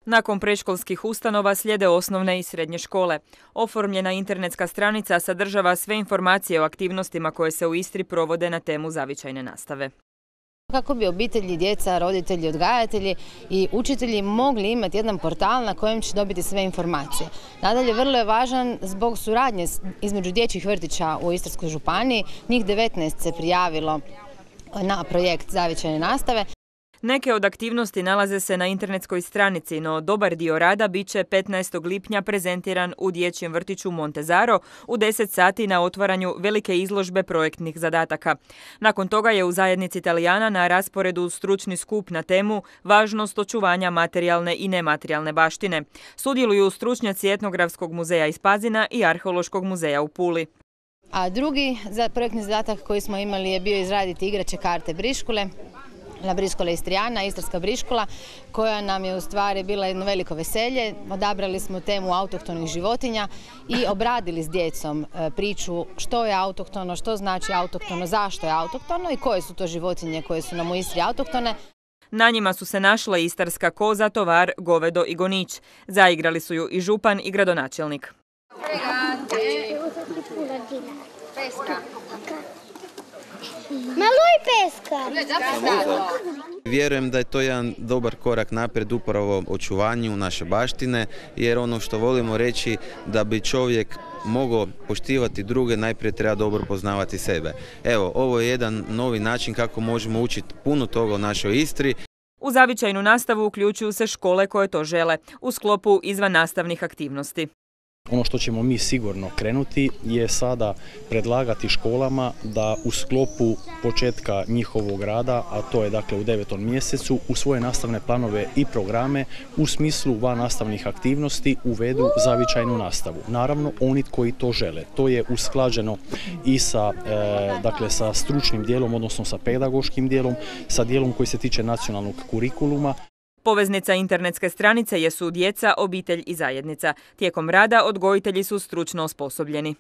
Nakon predškolskih ustanova slijede osnovne i srednje škole. Oformljena internetska stranica sadržava sve informacije o aktivnostima koje se u Istri provode na temu zavičajne nastave. Kako bi obitelji, djeca, roditelji, odgajatelji i učitelji mogli imati jedan portal na kojem će dobiti sve informacije. Nadalje, vrlo je važan zbog suradnje između dječjih vrtića u Istarskoj županiji. Njih 19 se prijavilo na projekt zavičajne nastave. Neke od aktivnosti nalaze se na internetskoj stranici, no dobar dio rada bit će 15. lipnja prezentiran u dječjem vrtiću Montezaro u 10 sati na otvaranju velike izložbe projektnih zadataka. Nakon toga je u zajednici Italijana na rasporedu stručni skup na temu važnost očuvanja materijalne i nematerijalne baštine. Sudjeluju stručnjaci Etnografskog muzeja iz Pazina i Arheološkog muzeja u Puli. A drugi projektni zadatak koji smo imali je bio izraditi igrače karte Briškule. La Briškola Istrijana, Istarska Briškola, koja nam je u stvari bila jedno veliko veselje. Odabrali smo temu autohtonih životinja i obradili s djecom priču što je autohtono, što znači autohtono, zašto je autohtono i koje su to životinje koje su nam u Istri autohtone. Na njima su se našle istarska koza, tovar, govedo i gonić. Zaigrali su ju i župan i gradonačelnik. Malo i peska. Vjerujem da je to jedan dobar korak naprijed upravo očuvanju naše baštine, jer ono što volimo reći da bi čovjek mogao poštivati druge, najprije treba dobro poznavati sebe. Evo, ovo je jedan novi način kako možemo učiti puno toga o našoj Istri. U zavičajnu nastavu uključuju se škole koje to žele, u sklopu izvannastavnih aktivnosti. Ono što ćemo mi sigurno krenuti je sada predlagati školama da u sklopu početka njihovog rada, a to je dakle u 9. mjesecu, u svoje nastavne planove i programe u smislu vannastavnih aktivnosti uvedu zavičajnu nastavu. Naravno, oni koji to žele. To je usklađeno i sa stručnim dijelom, odnosno sa pedagoškim dijelom, sa dijelom koji se tiče nacionalnog kurikuluma. Poveznica internetske stranice jesu djeca, obitelj i zajednica. Tijekom rada odgojitelji su stručno osposobljeni.